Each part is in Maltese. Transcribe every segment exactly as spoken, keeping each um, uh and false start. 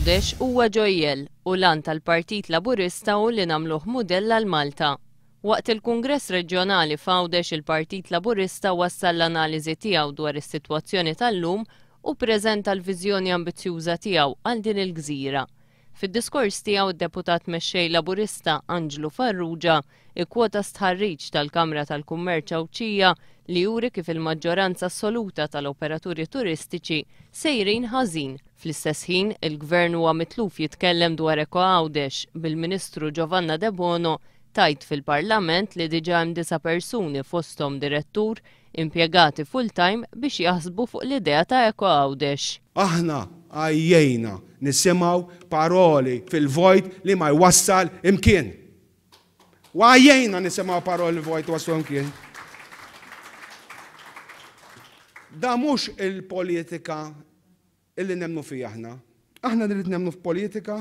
Għawdex huwa ġojjel u l-għan tal-Partit Laburista hu li nagħmluh mudell għal Malta. Waqt il-Kungress Reġjonali f'Għawdex, il-Partit Laburista wassal l-analiżi tiegħu dwar is-sitwazzjoni tal-lum u ppreżenta l-viżjoni ambizzjuża tiegħu għal din il-gżira. Fid-diskors tiegħu, d-Deputat Mexxej Laburista Anġlu Farrugia ikkwota stħarriġ tal-Kamra tal-Kummerċ Għawdxija li juri kif il-maġġoranza assoluta tal-operaturi turistiċi sejrin ħażin. Fl-istess ħin, il-Gvern huwa mitluf jitkellem dwar Eko Għawdex, bil-Ministru Giovanna Debono tgħid fil-Parlament li diġà hemm disa' persuni, fosthom direttur, impjegati full-time biex jaħsbu fuq l-idea ta' Eko Għawdex. Aħna għajjejna nisimgħu paroli fil-vojt li ma jwassal imkien. U għajjejna nisimgħu paroli vojt waslu imkien. Da mhux il-politika illi nemmnu fija aħna. Aħna nrid nemmnu f'politika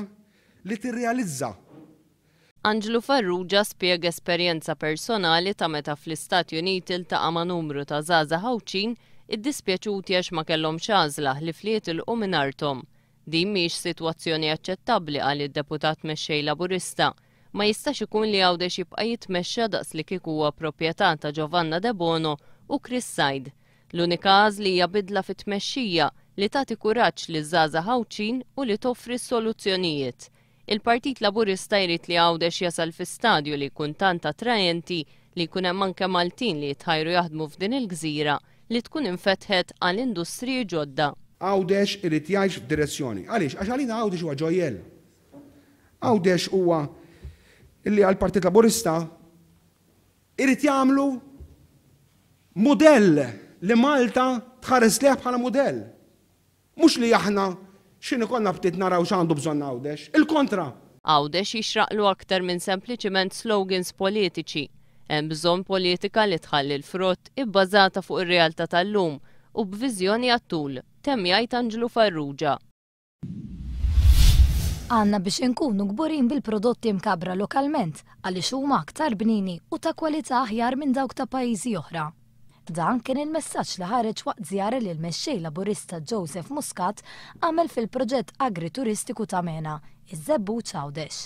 li tirrealizza. Anġlu Farrugia spjega esperjenza personali ta' meta fl-Istati Uniti ltaqa' ma' numru ta' żgħażagħ Għawdxin iddispjaċuti għax ma kellhomx għażla ħlief li jitilqu minn arthom. Din mhix sitwazzjoni aċċettabbli, qal id-Deputat Mexxej Laburista. Ma jistax ikun li Għawdex jibqa' jitmexxa daqs li kieku huwa proprjetà ta' Giovanna Debono u Chris Said. L-unika għażla hija bidla fit-tmexxija li tagħti kuraġġ liż-żgħażagħ Għawdxin u li toffri soluzzjonijiet. Il-Partit Laburista jrid li Għawdex jasal fi stadju li jkun tant attraenti li jkun hemm anke Maltin li jitħajru jaħdmu f'din il-gżira li tkun infetħet għal industriji ġodda. Għawdex irid jgħix f'direzzjoni. Għaliex? Għax għalina Għawdex huwa ġojjel. Għawdex huwa illi għall-Partit Laburista irid jagħmlu mudell li Malta tħares lejh bħala mudell. Mhux li aħna x'inhi konna ftit naraw x'għandu bżonn Għawdex. Il-kontra. Għawdex jixraqlu aktar minn sempliċiment slogans politiċi. Hemm bżonn politika li tħalli l-frott, ibbażata fuq ir-realtà tal-lum u b'viżjoni għat-tul, temm jgħid Anġlu Farrugia. Għandna biex inkunu kburin bil-prodotti mkabbra lokalment għaliex huma aktar bnini u ta' kwalità aħjar minn dawk ta' pajjiżi oħra. Dan kien il-messaġġ li ħareġ waqt żjara li l-mexxej Laburista Joseph Muscat għamel fil-proġett agrituristiku ta' Mena, iż-Żebbuġ Għawdex.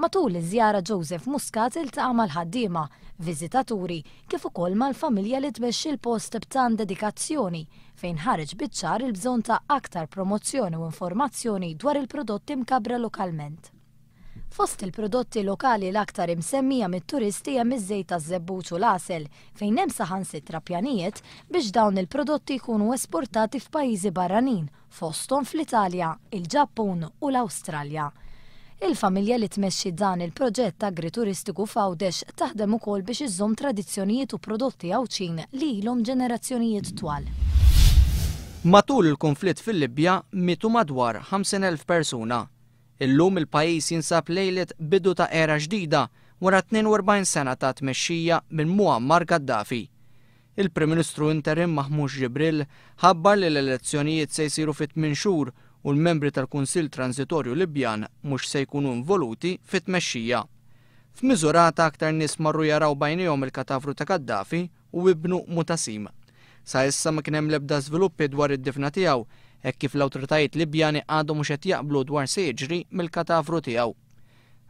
Matul iż-żjara, Joseph Muscat iltaqa' mal-ħaddiema, viżitaturi, kif ukoll mal-familja li tmexxi l-post b'tant dedikazzjoni, fejn ħareġ biċ-ċar il-bżonn ta' aktar promozzjoni u informazzjoni dwar il-prodotti mkabbra lokalment. Fost il-prodotti lokali l-aktar imsemmija mit-turisti hemm iż-żejt taż-żebbuġ u l-għasel, fejn hemm saħansitra pjanijiet biex dawn il-prodotti jkunu esportati f'pajjiżi barranin, fosthom fl-Italja, il-Ġappun u l-Awstralja. Il-familja li tmexxi dan il-proġett agrituristiku f'Għawdex taħdem ukoll biex iżżomm tradizzjonijiet u prodotti Għawdxin li ilhom ġenerazzjonijiet twal. Matul il-konflitt fil-Libja mietu madwar ħamsin elf persuna. Illum il-pajjiż jinsab lejlet bidu ta' era ġdida wara tnejn u erbgħin sena ta' tmexxija minn Muammar Gaddafi. Il-Prim Ministru interim Mahmud Jibril ħabbar li l-elezzjonijiet se jsiru fit tmien xhur u l-membri tal-Kunsill Transitorju Libjan mhux se jkunu involuti fit-tmexxija. F'Misurata aktar nies marru jaraw b'għajnejhom il-katavru ta' Gaddafi u ibnu Mutasim. Sa issa ma kien hemm l-ebda żviluppi dwar id-difna tiegħu, hekk kif l-awtoritajiet Libjani għadhom mhux qed jaqblu dwar se jiġri mill-katavru tiegħu.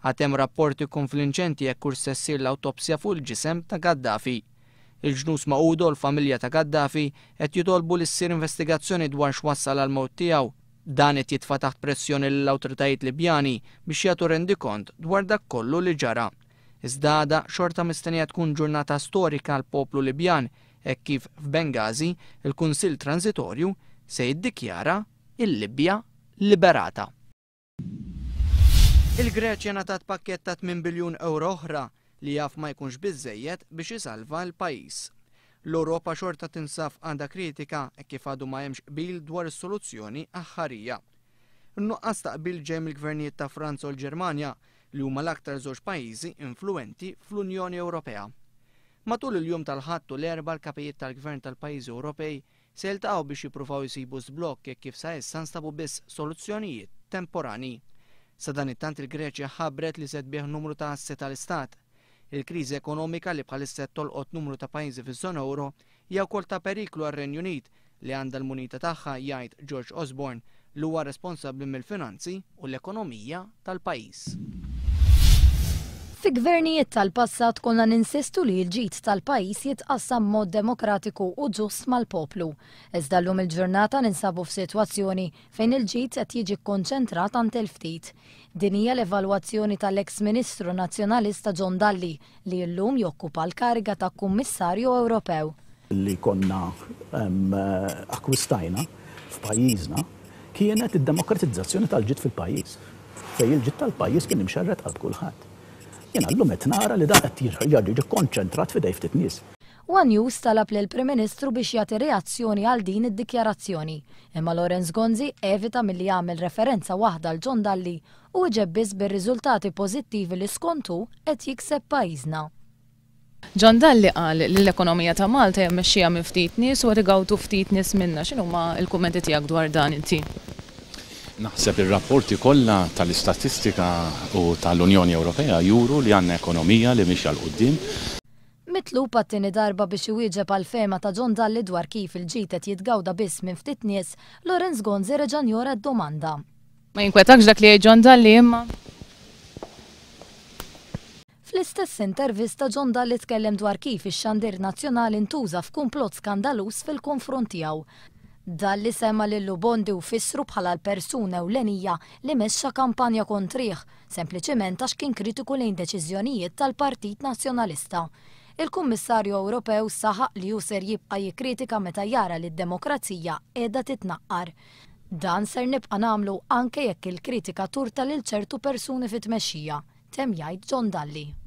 Għad hemm rapporti konflinċenti jekk hux se ssir l-awtopsja fuq il-ġisem ta' Gaddafi. Il-Ġnus Magħquda u l-familja ta' Gaddafi qed jitolbu li ssir investigazzjoni dwar x'wassal għal mewt tiegħu. Dan qed jitfa' taħt pressjoni lill-awtoritajiet Libjani biex jagħtu rendikont dwar dak kollu li ġara. Iżda għada xorta mistennija tkun ġurnata storika għal poplu Libjan, hekk kif f'Bengazi il-Kunsill Transitorju se jiddikjara il-Libja liberata. Il-Greċja ngħatat pakket ta' tmien biljun euro oħra li jaf ma jkunx biżejjed biex isalva l-pajjiż. L-Ewropa xorta tinsab għandha kritika e kif għadu ma hemmx qbil dwar is-soluzzjoni aħħarija. In-nuqqas ta' qbil ġej mill-gvernijiet ta' Franza u l-Ġermanja, li huma l-aktar żewġ pajjiżi influenti fl-Unjoni Ewropea. Matul il-jum tal-Ħadd u l-Erbgħa, l-kapijiet tal-gvern tal-pajjiżi Ewropej se jiltaqgħu biex jippruvaw jsibu żblokk, jekk kif sa issa nstabu biss soluzzjonijiet temporani. Sadanittant, il-Greċja ħabbret li se tbigħ numru ta' assi tal-Istat. Il-kriżi ekonomika li bħalissa tolqot numru ta' pajjiżi fiż-żona euro hija wkoll ta' periklu għar-Renju Unit li għandha l-munita tagħha, jgħid George Osborne, li huwa responsabbli mill-finanzi u l-ekonomija tal-pajjiż. Fi gvernijiet tal-passat konna ninsistu li l-ġid tal-pajjiż jitqassam mod demokratiku u ġust mal-poplu. Iżda llum il-ġurnata ninsabu f'sitwazzjoni fejn il-ġid qed jiġi kkonċentrat għand il-ftit. Din hija l-evalwazzjoni tal-eks Ministru Nazzjonalista John Dalli li llum jokkupa l-kariga ta' Kummissarju Ewropew. Li konna akkwistajna f'pajjiżna kienet id-demokratizzazzjoni tal-ġid fil-pajjiż. Fejn il-ġid tal-pajjiż kien imxerred għal kulħadd. Jiena llum qed nara li dan qed jiġi konċentrat f'idej ftit nies. One News talab lill-Prim Ministru biex jagħti reazzjoni għal din id-dikjarazzjoni. Imma Lawrence Gonzi evita milli jagħmel referenza waħda għal John Dalli u wieġeb biss bir-riżultati pożittivi li skontu qed jikseb pajjiżna. John Dalli qal li l-ekonomija ta' Malta hija mmexxija minn ftit nies u qed igawdu ftit nies minnha. X'inhuma l-kummenti tiegħek dwar dan inti? Naħseb ir-rapporti kollha tal-istatistika u tal-Unjoni Ewropea juru li għandna ekonomija li mixja 'l quddiem. Mitlub għat-tieni darba biex iwieġeb għal fehma ta' John Dalli dwar kif il-ġid qed jitgawda biss minn ftit nies, Lawrence Gonzi reġa' njora d-domanda. Ma jinkwetakx dak li jgħid John Dalli imma? Fl-istess intervista John Dalli tkellem dwar kif ix-xandir nazzjonali ntuża f'kumplott skandaluż fil-konfront tiegħu. Dalli semma lil Lou Bondi u fissru bħala l-persuna ewlenija li mexxa kampanja kontrih, sempliċement għax kien kritiku lejn deċiżjonijiet tal-Partit Nazzjonalista. Il-Kummissarju Ewropew saħaq li hu ser jibqa' jikkritika meta jara li d-demokrazija qiegħda titnaqqar. Dan ser nibqa' nagħmlu anke jekk il-kritika turta lil ċertu persuni fit-tmexxija, temm jgħid John Dalli.